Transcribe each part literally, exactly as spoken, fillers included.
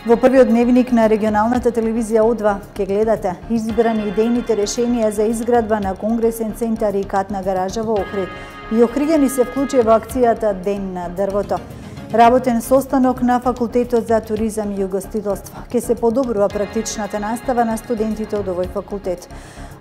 Во првиот дневник на регионалната телевизија О два ке гледате избрани идејните решенија за изградба на конгресен центар и катна гаража во Охрид. И охриѓани се вклучи во акцијата Ден на дрвото. Работен состанок на Факултетот за туризам и угостителство. Ке се подобрува практичната настава на студентите од овој факултет.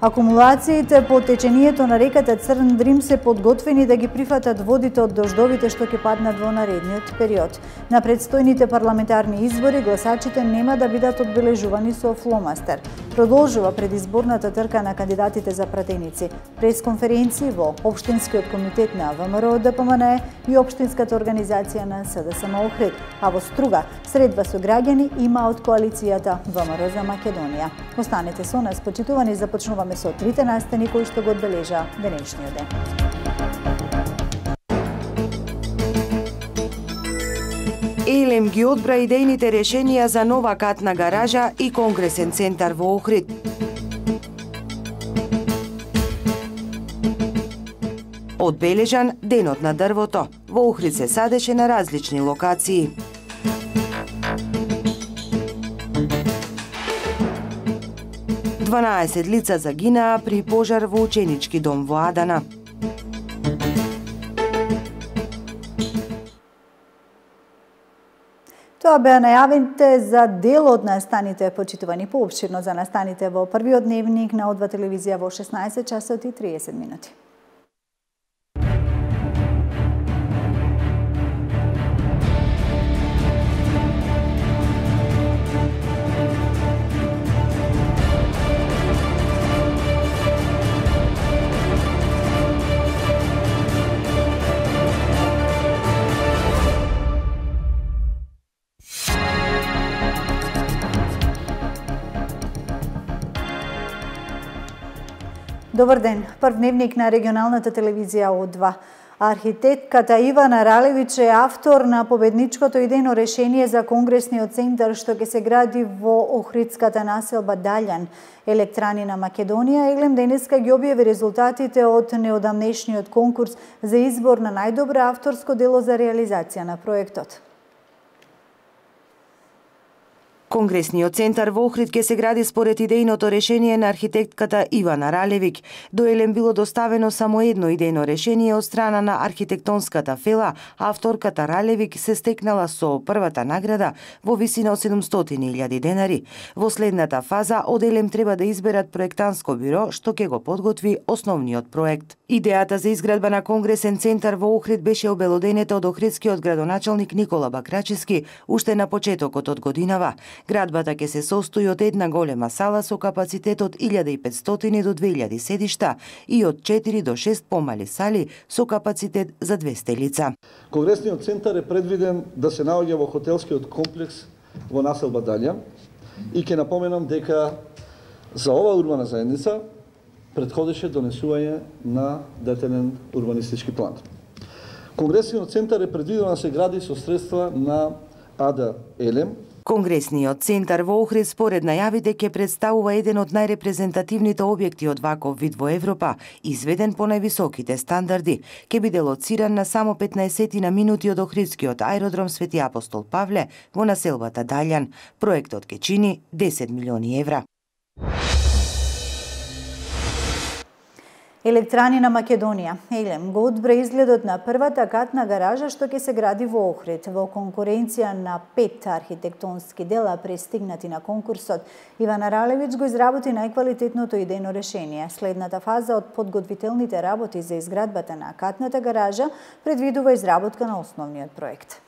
Акумулациите по течението на реката Црн Дрим се подготвени да ги прифатат водите од дождовите што ќе паднат во наредниот период. На предстојните парламентарни избори гласачите нема да бидат одбележувани со фломастер. Продолжува предизборната трка на кандидатите за пратеници. Пресконференции во Општинскиот комитет на ВМРО Д П М Н Е и Општинската организација на С Д С М Охрид, а во Струга средба со граѓани има од коалицијата ВМРО за Македонија. Останете со нас, почитувани, започнуваме со трите настани кои што го одбележа денешниот ден. Елем ги одбра идејните решенија за нова катна гаража и конгресен центар во Охрид. Одбележан Денот на дрвото. Во Охрид се садеше на различни локации. дванаесет лица загинаа при пожар во ученички дом во Адана. Тоа беа најавите за дел од настаните, почитувани поопширно за настаните во првиот дневник на О два телевизија во шеснаесет часот и триесет минути. Добар ден. Прв дневник на регионалната телевизија О два. Архитектката Ивана Ралевич е автор на победничкото идејно решение за конгресниот центар што ќе се гради во охридската населба Далјан. Електрани на Македонија Елем денеска ги објави резултатите од неодамнешниот конкурс за избор на најдобро авторско дело за реализација на проектот. Конгресниот центар во Охрид ќе се гради според идејното решение на архитектката Ивана Ралевик. До Елем било доставено само едно идејно решение од страна на архитектонската фела, а авторката Ралевик се стекнала со првата награда во висина од седумстотини илјади денари. Во следната фаза од Елем треба да изберат проектанско бюро што ќе го подготви основниот проект. Идејата за изградба на конгресен центар во Охрид беше обелоденета од охридскиот градоначалник Никола Бакрачевски уште на почетокот од годинава. Градбата ќе се состои од една голема сала со капацитет од илјада и петстотини до две илјади седишта и од четири до шест помали сали со капацитет за двесте лица. Конгресниот центар е предвиден да се наоѓа во хотелскиот комплекс во населба Далјан и ќе напоменам дека за оваа урбана заедница предходеше донесување на детелен урбанистички план. Конгресниот центар е предвидено да се гради со средства на А Д Елем. Конгресниот центар во Охрид според најавите ќе представува еден од најрепрезентативните објекти од ваков вид во Европа, изведен по највисоките стандарди. Ќе биде лоциран на само петнаесет минути од Охридскиот аеродром Свети Апостол Павле во населбата Далјан. Проектот ќе чини десет милиони евра. Електрани на Македонија Елем го одбра изгледот на првата катна гаража што ќе се гради во Охрид. Во конкуренција на пет архитектонски дела пристигнати на конкурсот, Ивана Ралевич го изработи најквалитетното идејно решение. Следната фаза од подготвителните работи за изградбата на катната гаража предвидува изработка на основниот проект.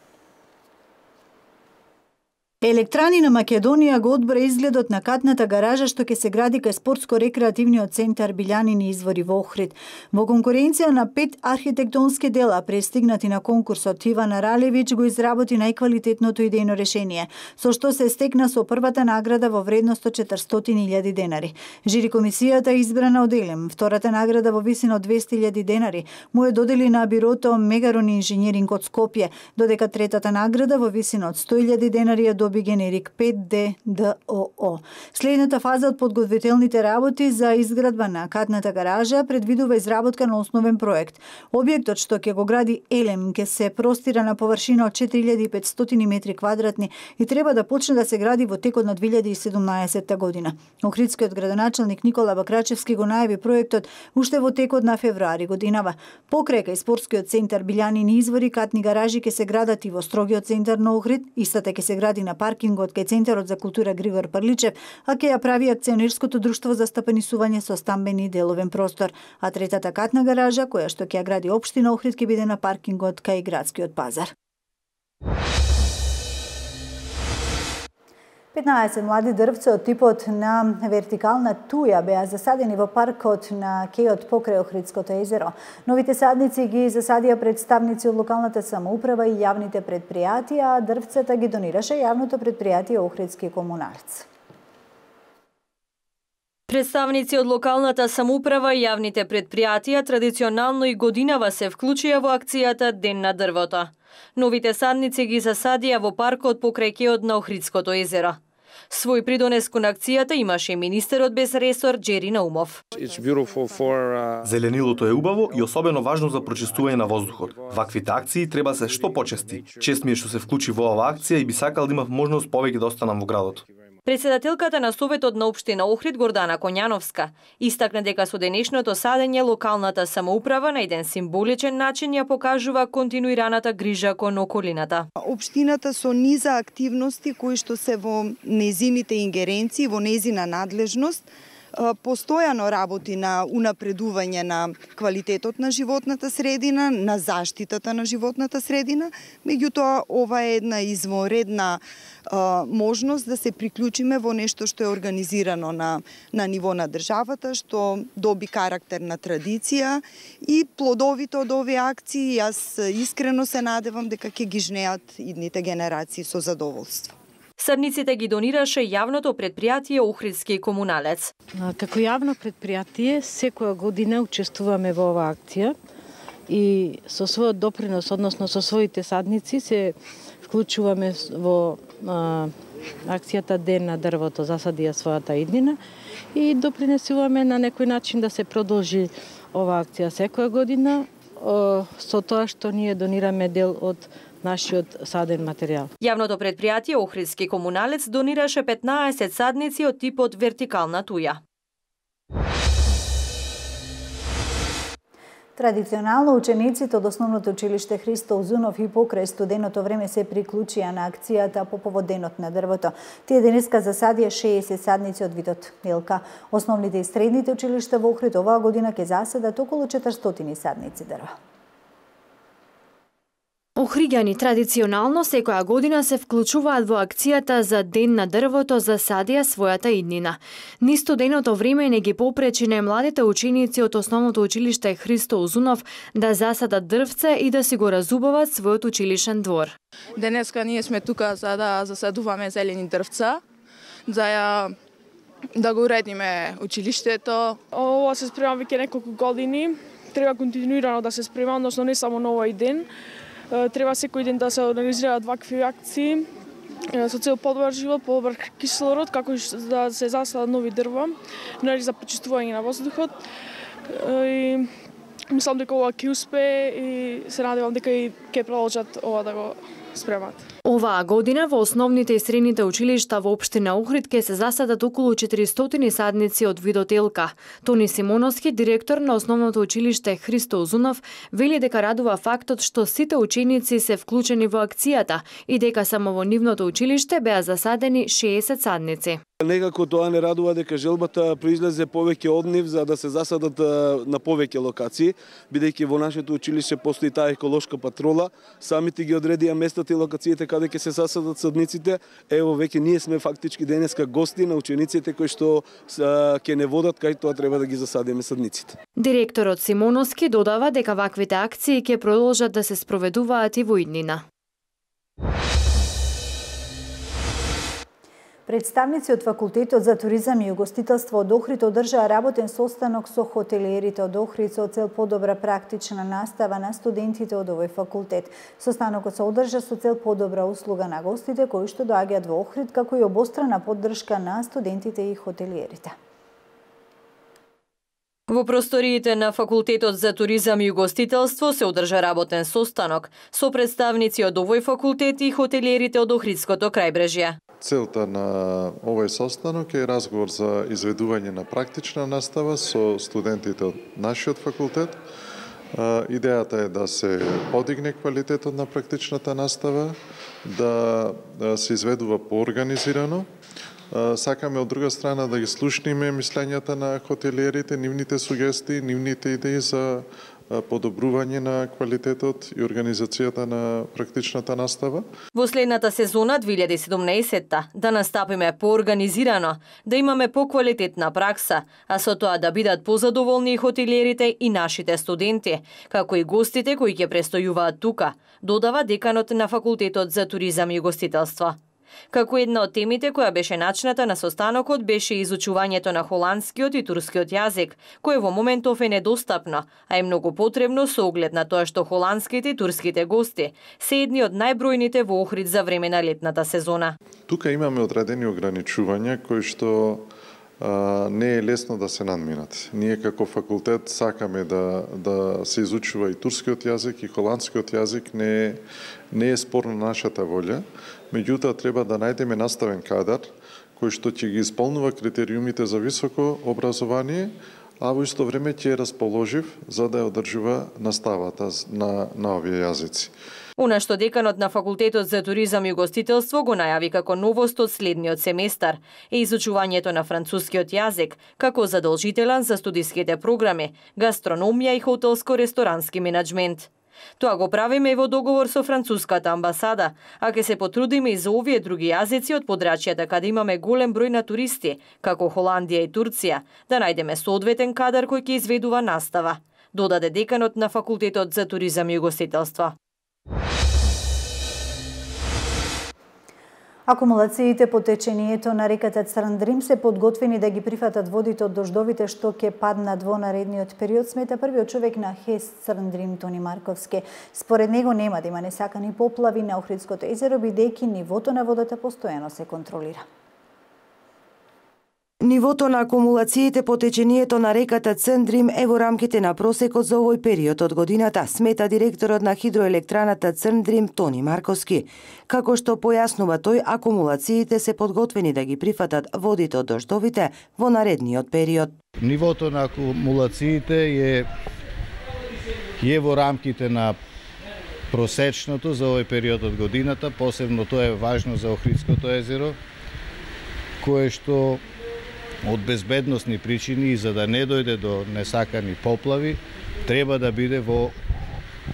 Електрани на Македонија го одбра изгледот на катната гаража што ќе се гради кај спортско-рекреативниот центар Билјанини извори во Охрид. Во конкуренција на пет архитектонски дела пристигнати на конкурсот, Ивана Ралевич го изработи најквалитетното идејно решение, со што се стекна со првата награда во вредност од четиристотини илјади денари. Жири комисијата избрана од Елем. Втората награда во висина од двесте илјади денари му е додели на бирото Мегарон инженеринг од Скопје, додека третата награда во висина од сто илјади денари ја проби генерик пет Д Д О О. Следната фаза од подготвителните работи за изградба на катната гаража предвидува изработка на основен проект. Објектот што ќе го гради Елем ќе се простира на површина од четири илјади и петстотини метри квадратни и треба да почне да се гради во текот на две илјади и седумнаесетта година. Охридскиот градоначелник Никола Бакрачевски го најави проектот уште во текот на февруари годинава. Покрај кај спортскиот центар Билјанини извори, катни гаражи ќе се градат и во строгиот центар на Охрид, истата ќе се гради на паркингот кај Центарот за култура Григор Прличев, а ќе ја прави акционерското друштво за стапанисување со стамбени и деловен простор. А третата катна гаража, која што ќе ја гради општина Охрид, ќе биде на паркингот кај градскиот пазар. петнаесет млади дрвца од типот на вертикална туја беа засадени во паркот на кејот покрај Охридското езеро. Новите садници ги засадија представници од локалната самоуправа и јавните предпријатија, а дрвцата ги донираше јавното предпријатие Охридски комуналец. Представници од локалната самоуправа и јавните предпријатија традиционално и годинава се вклучија во акцијата Ден на дрвото. Новите садници ги засадија во паркот покрај кејот на Охридското езеро. Свој придонес кон акцијата имаше министерот без ресор Џери Наумов. Зеленилото е убаво и особено важно за прочистување на воздухот. Ваквите акции треба се што почести. Чест ми е што се вклучи во оваа акција и би сакал да имав можност повеќе да останам во градот. Председателката на Советот на општина Охрид Гордана Коњановска истакна дека со денешното садење локалната самоуправа на еден символичен начин ја покажува континуираната грижа кон околината. Општината со низа активности кои што се во незините ингеренции, во незина надлежност, постојано работи на унапредување на квалитетот на животната средина, на заштитата на животната средина, меѓутоа ова е една извонредна а, можност да се приклучиме во нешто што е организирано на, на ниво на државата, што доби карактер на традиција и плодовите од овие акции, јас искрено се надевам дека ќе ги жнеат идните генерации со задоволство. Садниците ги донираше јавното предпријатие Охридски комуналец. Како јавно предпријатие, секоја година учествуваме во оваа акција и со својот допринос, односно со своите садници, се вклучуваме во а, акцијата Ден на дрвото, засадија својата иднина и допринесуваме на некој начин да се продолжи оваа акција секоја година, а, со тоа што ние донираме дел од нашиот саден материјал. Јавното предпријатие Охридски комуналец донираше петнаесет садници од типот вертикална туја. Традиционално учениците од Основното училиште Христо Узунов и покрај студеното време се приклучија на акцијата по повод Денот на дрвото. Тие денеска засадија шеесет садници од видот елка. Основните и средните училишта во Охрид оваа година ќе засадат околу четиристотини садници дрва. Охриѓани традиционално секоја година се вклучуваат во акцијата за Ден на дрвото за садија својата иднина. Ни студеното време не ги попречи на младите ученици од Основното училиште Христо Узунов да засадат дрвце и да си го разубават својот училишен двор. Денеска ние сме тука за да засадуваме зелени дрвца, за ја да го уредиме училиштето. Ова се спрема веќе неколку години, треба континуирано да се спрема, односно не само на овој ден. Треба секој ден да се организираат вакви акции со цел подобар живот, подобар кислород, како и да се засадат нови дрва, нали за почистување на воздухот. И мислам дека ова ќе успее и се надевам дека и ќе продолжат ова да го спремат. Оваа година во основните и средните училишта во општина Охрид ќе се засадат околу четиристотини садници од видот елка. Тони Симоновски, директор на Основното училиште Христо Узунов, вели дека радува фактот што сите ученици се вклучени во акцијата и дека само во нивното училиште беа засадени шеесет садници. Некако тоа не радува дека желбата произлезе повеќе од нив за да се засадат на повеќе локации, бидејќи во нашето училиште постои таа еколошка патрола, самите ги одредија местата и локациите каде ќе се засадат садниците. Ево веќе ние сме фактички денеска гости на учениците кои што ќе не водат кај тоа треба да ги засадиме садниците. Директорот Симоновски додава дека ваквите акции ќе продолжат да се спроведуваат и во иднина. Представници од Факултетот за туризам и угостителство од Охрид одржаа работен состанок со хотелиерите од Охрид со цел подобра практична настава на студентите од овој факултет. Состанокот се одржа со цел подобра услуга на гостите кои што доаѓаат во Охрид, како и обострана поддршка на студентите и хотелиерите. Во просториите на Факултетот за туризам и угостителство се одржа работен состанок со представници од овој факултет и хотелиерите од Охридското крајбрежје. Целта на овој состанок е разговор за изведување на практична настава со студентите од нашиот факултет. Идејата е да се подигне квалитетот на практичната настава, да се изведува поорганизирано. Сакаме од друга страна да ги слушниме мислењата на хотелиерите, нивните сугестии, нивните идеи за подобрување на квалитетот и организацијата на практичната настава. Во следната сезона две илјади и седумнаесетта да настапиме поорганизирано, да имаме поквалитетна пракса, а со тоа да бидат позадоволни и хотелиерите и нашите студенти, како и гостите кои ќе престојуваат тука, додава деканот на Факултетот за туризам и угостителство. Како една од темите која беше начната на состанокот беше изучувањето на холандскиот и турскиот јазик, кое во моментов е недостапно, а е многу потребно со оглед на тоа што холандските и турските гости се едни од најбројните во Охрид за време на летната сезона. Тука имаме одредени ограничувања кои што а, не е лесно да се надминат. Ние како факултет сакаме да да се изучува и турскиот јазик и холандскиот јазик, не е, не е спорно нашата волја. Меѓутоа, треба да најдеме наставен кадар кој што ќе ги исполнува критериумите за високо образование, а во исто време ќе е расположив за да ја одржува наставата на, на овие јазици. Она што деканот на Факултетот за туризам и угостителство го најави како новост од следниот семестар е изучувањето на францускиот јазик како задолжителен за студиските програми, гастрономија и хотелско-ресторански менаџмент. Тоа го правиме и во договор со француската амбасада, а ќе се потрудиме и за овие други јазици од подрачјата каде имаме голем број на туристи, како Холандија и Турција, да најдеме соодветен кадар кој ќе изведува настава, додаде деканот на Факултетот за туризам и угостителство. Акумулациите по течението на реката Црндрим се подготвени да ги прифатат водите од дождовите што ќе паднат во наредниот период, смета првиот човек на ХЕС Црндрим Тони Марковски. Според него нема да има несакани поплави на Охридското езеро, бидејќи нивото на водата постојано се контролира. Нивото на акумулациите по течението на реката Црндрим е во рамките на просекот за овој период од годината, смета директорот на хидроелектраната Црндрим Тони Марковски. Како што појаснува тој, акумулациите се подготвени да ги прифатат водите од дождовите во наредниот период. Нивото на акумулациите е, е во рамките на просечното за овој период од годината, посебно тоа е важно за Охридското езеро, кое што од безбедносни причини и за да не дојде до несакани поплави, треба да биде во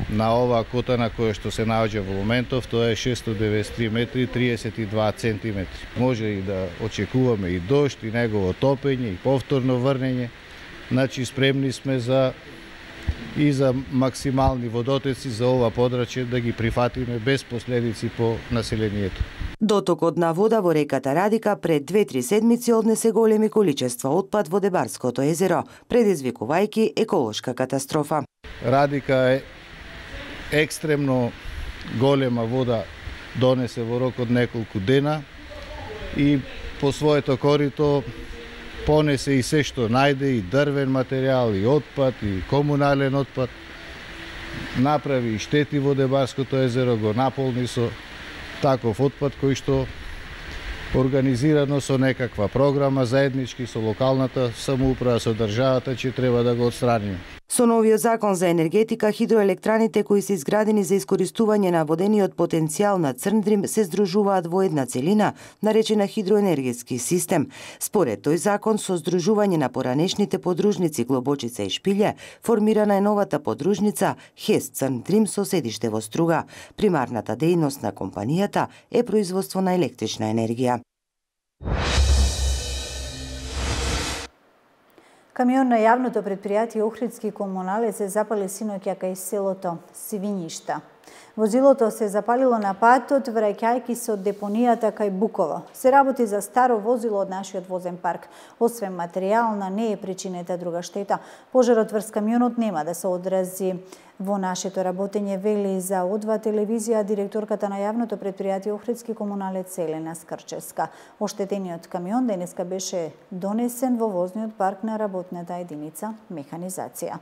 на оваа кота на која што се наоѓа во моментов, тоа е шестоста деветдесет и три метри и триесет и два центиметри. Може и да очекуваме и дожд, и негово топење, и повторно врнење. Значи, спремни сме за и за максимални водотеци за ова подрачје да ги прифатиме без последици по населението. Дотокот на вода во реката Радика пред две-три седмици однесе големи количества отпад во Дебарското езеро, предизвикувајќи еколошка катастрофа. Радика е екстремно голема вода донесе во рок од неколку дена и по своето корито понесе и се што најде, и дрвен материјал, и отпад, и комунален отпад. Направи и штети во Дебарското езеро, го наполни со таков отпад кој што организирано со некаква програма заеднички со локалната самоуправа, со државата, че треба да го отстраниме. Со новиот закон за енергетика, хидроелектраните кои се изградени за искористување на водениот потенцијал на Црндрим се здружуваат во една целина, наречена хидроенергетски систем. Според тој закон, со здружување на поранешните подружници Глобочица и Шпилје, формирана е новата подружница ХЕС Црндрим со седиште во Струга. Примарната дејност на компанијата е производство на електрична енергија. Камион на јавното предпријатие Охридски комуналец се запали синоќа кај селото Свињишта. Возилото се запалило на патот, враќајќи се од депонијата кај Буково. Се работи за старо возило од нашиот возен парк. Освен материјална, не е причинета друга штета. Пожарот врз камионот нема да се одрази во нашето работење, вели за О два телевизија директорката на јавното претпријатие Охридски комуналец Елена Скрчевска. Оштетениот камион денеска беше донесен во возниот парк на работната единица механизација.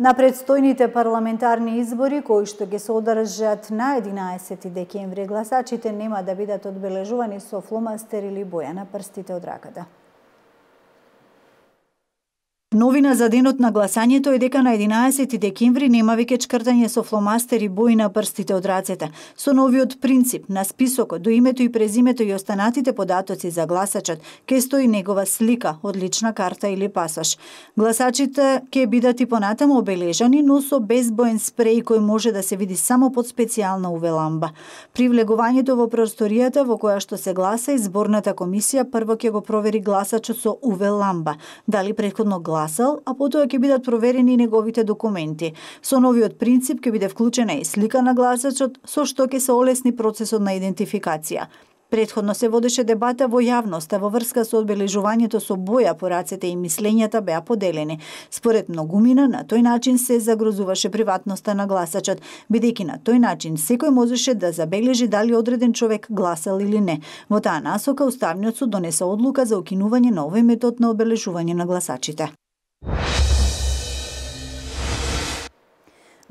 На предстојните парламентарни избори, кои што ќе се одржат на единаесети декември, гласачите нема да бидат одбележувани со фломастер или боја на прстите од раката. Новина за денот на гласањето е дека на единаесети декември нема веќе чкртање со фломастер и бои на прстите од рацете. Со новиот принцип на списокот до името и презимето и останатите податоци за гласачот ќе стои негова слика од лична карта или пасош. Гласачите ќе бидат и понатаму обележани, но со безбоен спреј кој може да се види само под специјална УВ ламба. При влегувањето во просторијата во која што се гласа, изборната комисија прво ќе го провери гласачот со УВ ламба, дали претходно гласал, а потоа ќе бидат проверени неговите документи. Со новиот принцип ќе биде вклучена и слика на гласачот, со што ќе се олесни процесот на идентификација. Предходно се водеше дебата во јавноста во врска со одбележувањето со боја по рацете и мислењата беа поделени. Според многумина, на тој начин се загрозуваше приватноста на гласачот, бидејќи на тој начин секој можеше да забележи дали одреден човек гласал или не. Во таа насока Уставниот суд донесе одлука за укинување на овој метод на одбележување на гласачите.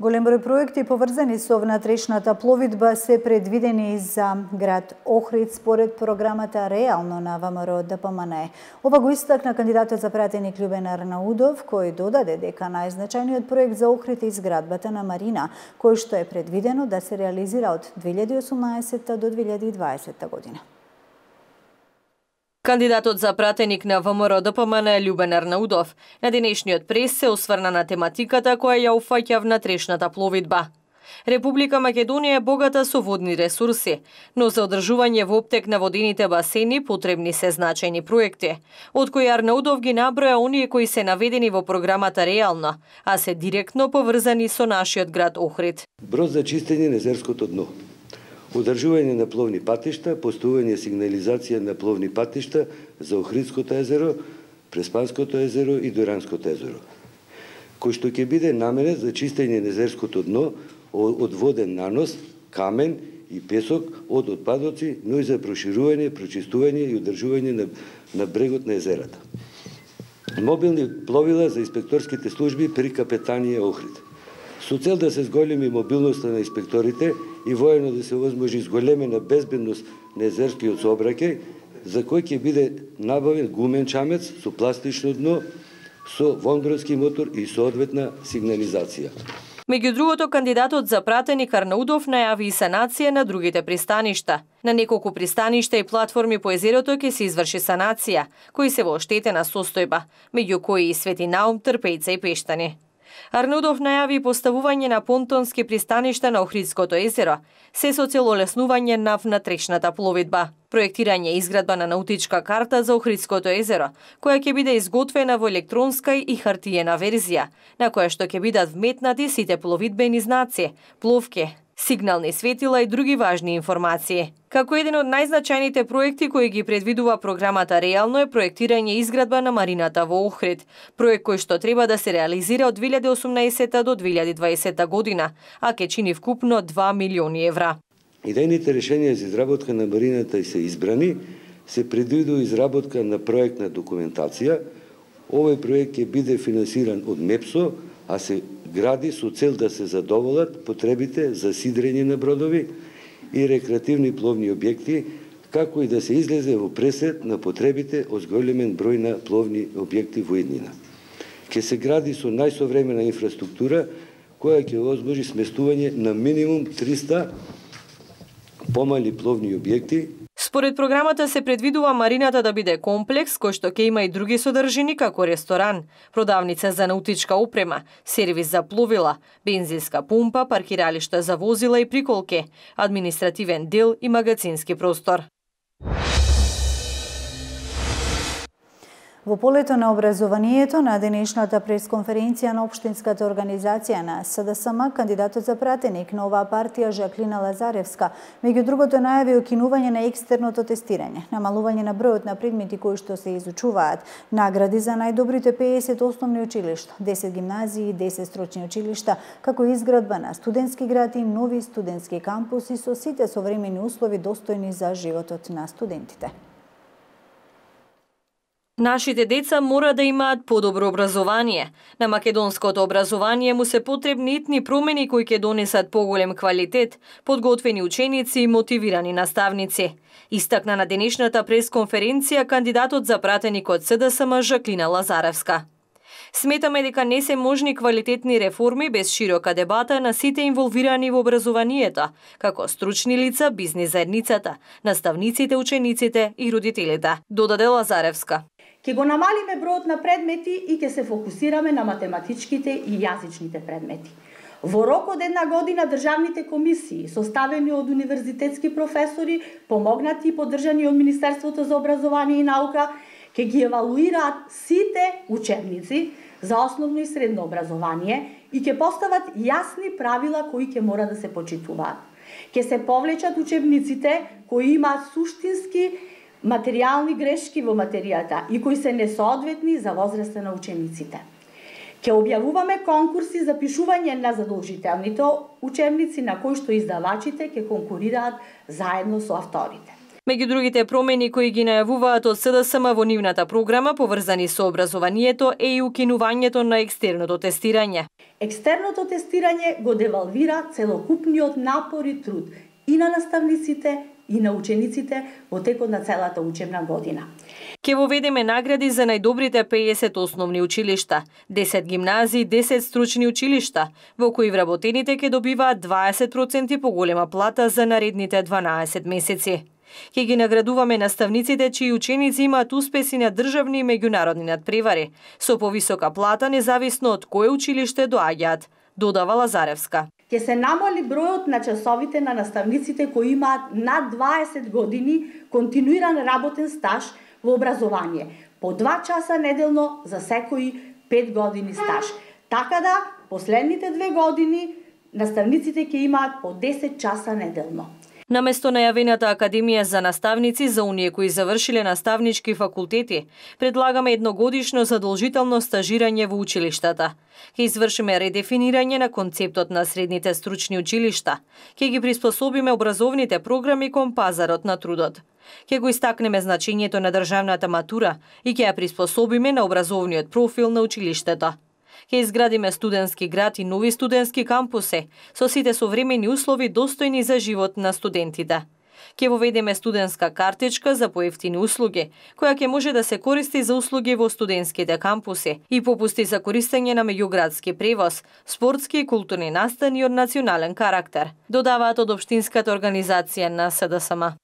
Голем број проекти поврзани со внатрешната пловидба се предвидени за град Охрид според програмата Реално на ВМРО Д П М Н Е. Ова го истакна кандидатот за пратеник Љубен Арнаудов, кој додаде дека најзначајниот проект за Охрид е изградбата на Марина, кој што е предвидено да се реализира од две илјади и осумнаесетта до две илјади и дваесетта година. Кандидатот за пратеник на ВМРО Д П М Н Е Љубен Арнаудов на денешниот прес се осврна на тематиката која ја уфаќа внатрешната пловидба. Република Македонија е богата со водни ресурси, но за одржување во оптек на водените басени потребни се значајни проекти, од кои Арнаудов ги наброја оние кои се наведени во програмата Реално, а се директно поврзани со нашиот град Охрид. Брод за чистење на езерското дно, одржување на пловни патишта, постојање сигнализација на пловни патишта за Охридското езеро, Преспанското езеро и Дуранското езеро, кој што ќе биде наменет за чистење на езерското дно од воден нанос, камен и песок од отпадоци, но и за проширување, прочистување и одржување на, на брегот на езерата. Мобилни пловила за инспекторските служби при капетанија Охрид. Со цел да се зголеми мобилноста на инспекторите и воено да се возможи зголемена безбедност на езерскиот сообраќај, за кој ќе биде набавен гумен чамец со пластично дно, со вондровски мотор и соодветна сигнализација. Меѓу другото, кандидатот за пратеник Арнаудов најави и санација на другите пристаништа. На неколку пристаништа и платформи по езерото ќе се изврши санација, кои се во оштетена состојба, меѓу кои и Свети Наум, Трпејца и Пештани. Арнаудов најави поставување на понтонски пристаништа на Охридското езеро, се со цел олеснување на внатрешната пловидба. Проектирање и изградба на наутичка карта за Охридското езеро, која ќе биде изготвена во електронска и хартиена верзија, на која што ќе бидат вметнати сите пловидбени знаци, пловки, сигнални светила и други важни информации. Како еден од најзначајните проекти кои ги предвидува програмата Реално е проектирање и изградба на Марината во Охрид, проект кој што треба да се реализира од две илјади и осумнаесетта до две илјади и дваесетта година, а ќе чини вкупно два милиони евра. Идејните решенија за изработка на Марината и се избрани, се предвидува изработка на проектна документација. Овој проект ќе биде финансиран од МЕПСО, а се гради со цел да се задоволат потребите за сидрење на бродови и рекреативни пловни објекти, како и да се излезе во пресет на потребите од зголемен број на пловни објекти во иднина. Ќе се гради со најсовремена инфраструктура, која ќе возможи сместување на минимум триста помали пловни објекти. Според програмата се предвидува марината да биде комплекс кој што ќе има и други содржини како ресторан, продавница за наутичка опрема, сервис за пловила, бензинска пумпа, паркиралишта за возила и приколки, административен дел и магазински простор. Во полето на образованието на денешната пресконференција на Општинската организација на СДСМ, кандидатот за пратеник на оваа партија Жаклина Лазаревска, меѓу другото најави укинување на екстерното тестирање, намалување на бројот на предмети кои што се изучуваат, награди за најдобрите пеесет основни училишта, десет гимназии и десет стручни училишта, како изградба на студентски град и нови студентски кампуси со сите современи услови достојни за животот на студентите. Нашите деца мора да имаат подобро образование. На македонското образование му се потребни итни промени кои ќе донесат поголем квалитет, подготвени ученици и мотивирани наставници. Истакна на денешната пресконференција кандидатот за пратеник од СДСМ Жаклина Лазаревска. Сметаме дека не се можни квалитетни реформи без широка дебата на сите инволвирани во образованието, како стручни лица, бизнис заедницата, наставниците, учениците и родителите, додаде Лазаревска. Ке го намалиме бројот на предмети и ќе се фокусираме на математичките и јазичните предмети. Во рок од една година државните комисии, составени од универзитетски професори, помогнати и поддржани од Министерството за образование и наука, ќе ги евалуираат сите учебници за основно и средно образование и ќе постават јасни правила кои ќе мора да се почитуваат. Ќе се повлечат учебниците кои имаат суштински материјални грешки во материјата и кои се несоодветни за возраста на учениците. Ќе објавуваме конкурси за пишување на задолжителните учебници на кои што издавачите ќе конкурираат заедно со авторите. Меѓу другите промени кои ги најавуваат од СДСМ во нивната програма поврзани со образованието е и укинувањето на екстерното тестирање. Екстерното тестирање го девалвира целокупниот напор и труд и на наставниците и на учениците во текот на целата учебна година. Ке воведеме награди за најдобрите пеесет основни училишта, десет гимназии, десет стручни училишта, во кои вработените ке добиваат дваесет проценти поголема плата за наредните дванаесет месеци. Ке ги наградуваме наставниците чии ученици имаат успеси на државни и меѓународни надпревари, со повисока плата независно од кое училиште доаѓаат, додава Лазаревска. Ќе се намали бројот на часовите на наставниците кои имаат над дваесет години континуиран работен стаж во образование, по два часа неделно за секои пет години стаж. Така да, последните две години наставниците ќе имаат по десет часа неделно. Наместо најавената Академија за наставници за оние кои завршиле наставнички факултети, предлагаме едногодишно задолжително стажирање во училиштата. Ке извршиме редефинирање на концептот на средните стручни училишта. Ке ги приспособиме образовните програми кон пазарот на трудот. Ке го истакнеме значењето на државната матура и ке ја приспособиме на образовниот профил на училиштето. Ке изградиме студентски град и нови студентски кампуси со сите современи услови достојни за живот на студентите. Ке воведеме студентска картичка за поевтини услуги, која ќе може да се користи за услуги во студентските кампуси и попусти за користење на меѓуградски превоз, спортски и културни настани од национален карактер, додаваат од Општинската организација на СДСМ.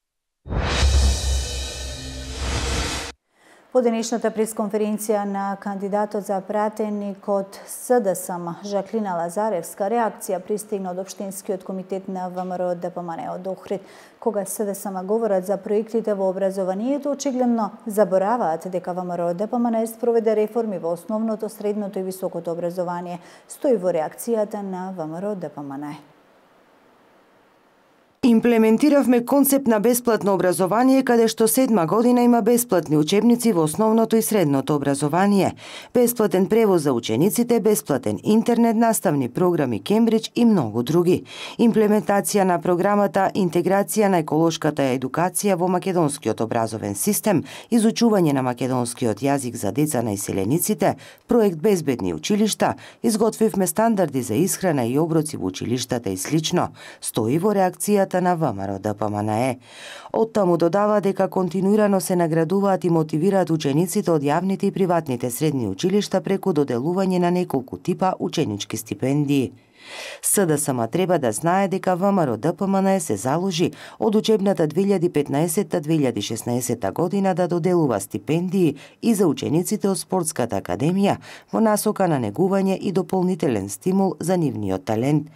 По денешната пресконференција на кандидатот за пратеник од СДСМ Жаклина Лазаревска, реакција пристигна од Општинскиот комитет на ВМРО ДПМН од Охрид. Кога СДСМ говорат за проектите во образованието, очигледно забораваат дека ВМРО ДПМН спроведе реформи во основното, средното и високото образование, стои во реакцијата на ВМРО ДПМН. Имплементиравме концепт на бесплатно образование, каде што седма година има бесплатни учебници во основното и средното образование, бесплатен превоз за учениците, бесплатен интернет, наставни програми Кембридж и многу други. Имплементација на програмата Интеграција на еколошката едукација во македонскиот образовен систем, изучување на македонскиот јазик за деца на иселениците, проект Безбедни училишта, изготвивме стандарди за исхрана и оброци во училиштата и слично, стои во реакцијата на ВМРО ДПМН. Оттаму додава дека континуирано се наградуваат и мотивираат учениците од јавните и приватните средни училишта преку доделување на неколку типа ученички стипендии. СДСМ треба да знае дека ВМРО Д П М Н се заложи од учебната две илјади и петнаесетта две илјади и шеснаесетта година да доделува стипендии и за учениците од спортската академија во насока на негување и дополнителен стимул за нивниот талент.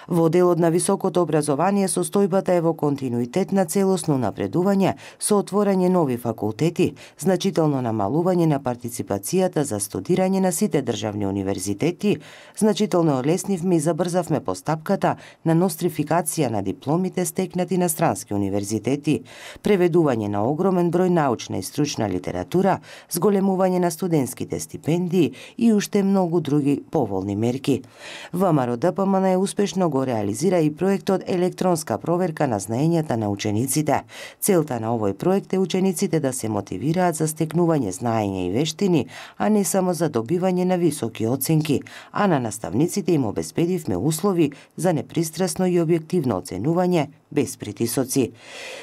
Во делот на високото образование состојбата е во континуитет на целосно напредување со отворање нови факултети, значително намалување на партиципацијата за студирање на сите државни универзитети, значително олеснивме и забрзавме постапката на нострификација на дипломите стекнати на странски универзитети, преведување на огромен број научна и стручна литература, зголемување на студентските стипендии и уште многу други поволни мерки. ВМРО Д П М Н успешно го реализира и проектот електронска проверка на знаењата на учениците. Целта на овој проект е учениците да се мотивираат за стекнување знаење и вештини, а не само за добивање на високи оценки, а на наставниците им обезбедивме услови за непристрасно и објективно оценување без притисоци.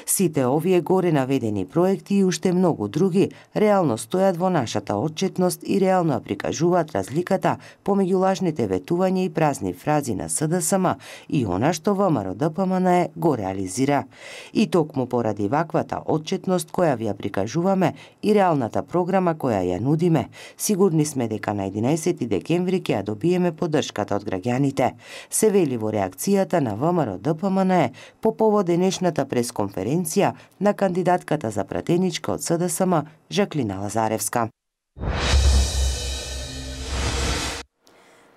Сите овие горе наведени проекти и уште многу други реално стојат во нашата отчетност и реално ја прикажуваат разликата помеѓу лажните ветувања и празни фрази на СДСМ и она што ВМРО Д П М Н го реализира. И токму поради ваквата отчетност која ви ја прикажуваме и реалната програма која ја нудиме, сигурни сме дека на единаесети декември ќе ја добиеме поддршката од граѓаните, се вели во реакцијата на ВМРО Д П М Н по повод денешната пресконференција на кандидатката за пратеничка од СДСМ Жаклина Лазаревска.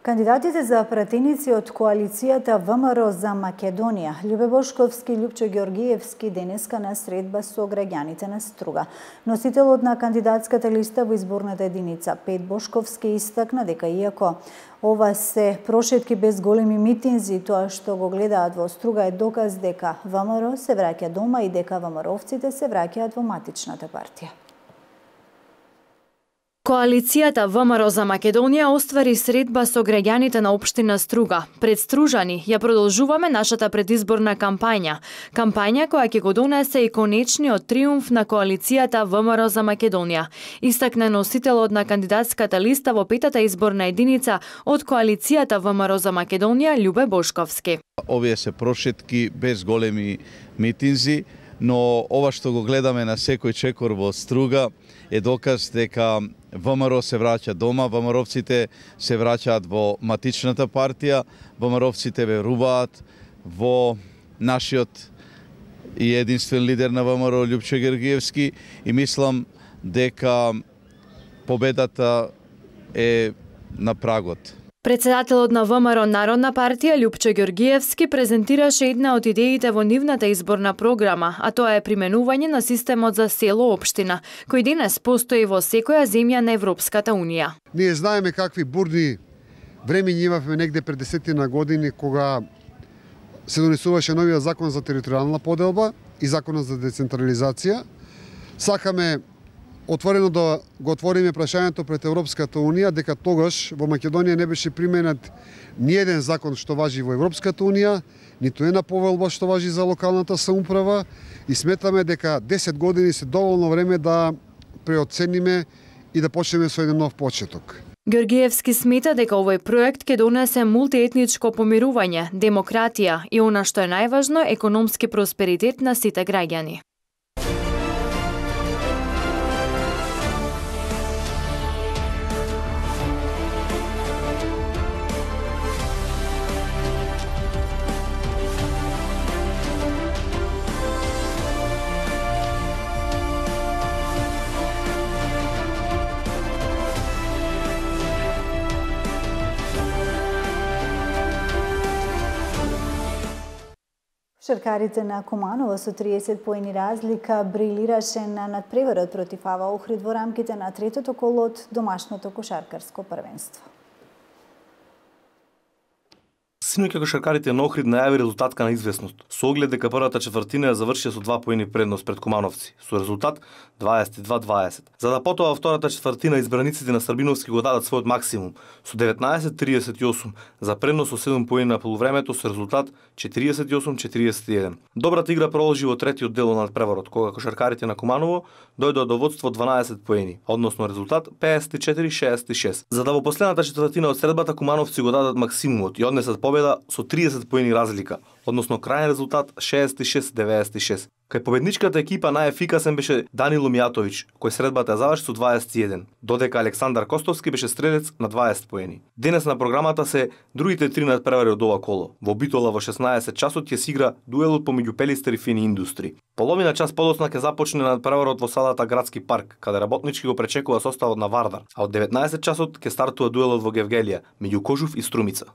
Кандидатите за пратеници од коалицијата ВМРО за Македонија, Љубе Бошковски и Љупчо Ѓоргиевски, денеска на средба со граѓаните на Струга. Носителот на кандидатската листа во изборната единица Пет Бошковски истакна дека иако ова се прошетки без големи митинзи, тоа што го гледаат во Струга е доказ дека ВМРО се враќа дома и дека ВМРО-овците се враќаат во матичната партија. Коалицијата ВМРО за Македонија оствари средба со граѓаните на општина Струга. Пред стружани ја продолжуваме нашата предизборна кампања. Кампања која ќе го донесе и конечниот триумф на коалицијата ВМРО за Македонија. Истакна носителот на кандидатската листа во петата изборна единица од коалицијата ВМРО за Македонија Љубе Бошковски. Овие се прошетки без големи митинзи, но ова што го гледаме на секој чекор во Струга е доказ дека ВМРО се враќа дома, ВМРО-овците се враќаат во матичната партија, ВМРО-овците веруваат во нашиот и единствен лидер на ВМРО Љупчо Ѓоргиевски и мислам дека победата е на прагот. Председателот на ВМРО Народна партија Љупчо Ѓоргиевски презентираше една од идеите во нивната изборна програма, а тоа е применување на системот за село-општина, кој денес постои во секоја земја на Европската Унија. Ние знаеме какви бурни времења имавме негде пред десетина години кога се донесуваше новиот закон за територијална поделба и законот за децентрализација. Сакаме отворено да го отвориме прашањето пред Европската Унија дека тогаш во Македонија не беше применет ни еден закон што важи во Европската Унија, ниту една повелба што важи за локалната самоуправа и сметаме дека десет години се доволно време да преоцениме и да почнеме со еден нов почеток. Ѓоргиевски смета дека овој проект ќе донесе мултиетничко помирување, демократија и она што е најважно, економски просперитет на сите граѓани. Шаркарите на Куманово со триесет поени разлика брилираше на надпреварот против АВА Охрид во рамките на третото коло од домашното кошаркарско првенство. Синоќа кошаркарите на Охрид најави резултатка на известност, со оглед дека првата четвртина ја завршија со два поени предност пред Кумановци, со резултат дваесет и два дваесет. За да потоа во втората четвртина избраниците на Србиновски го дадат својот максимум, со деветнаесет триесет и осум, за предност со седум поени на полувремето со резултат четириесет и осум четириесет и еден. Добрата игра продолжи во третиот дел на надпреварот, кога кошаркарите на Куманово дојдоа до водство дванаесет поени, односно резултат пеесет и четири шеесет и шест. За да во последната четвртина од средбата Кумановци го дадат максимумот и однесат победа победа со триесет поени разлика, односно крајен резултат шеесет и шест деветдесет и шест. Кај победничката екипа најефикасен беше Данило Мијатовиќ, кој средбата ја заврши со дваесет и еден, додека Александар Костовски беше стрелец на дваесет поени. Денес на програмата се другите три надпревари од ова коло. Во Битола во шеснаесет часот ќе се игра дуелот помеѓу Пелистер и Фини Индустри. Половина час подоцна ќе започне надпреварот во салата Градски парк, каде работнички го пречекува составот на Вардар, а од деветнаесет часот ќе стартува дуелот во Гевгелија меѓу Кожув и Струмица.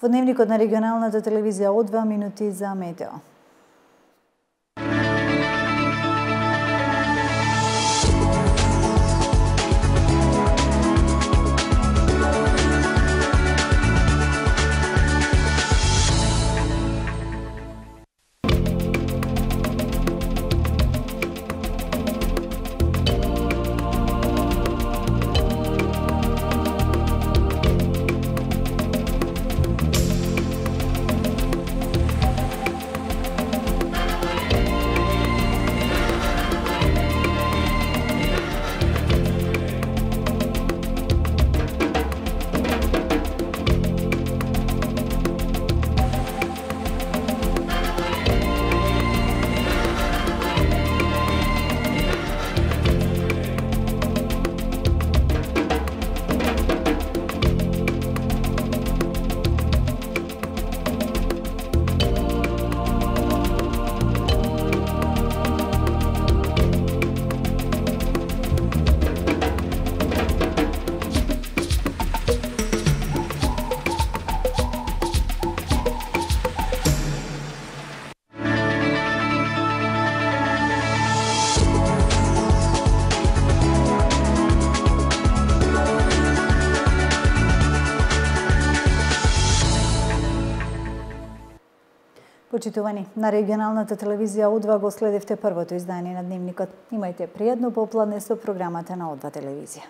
Во дневникот на регионалната телевизија од два минути за метео. Почитувани, на регионалната телевизија О два го следевте првото издание на Дневникот. Имајте пријатно попладне со програмата на О два телевизија.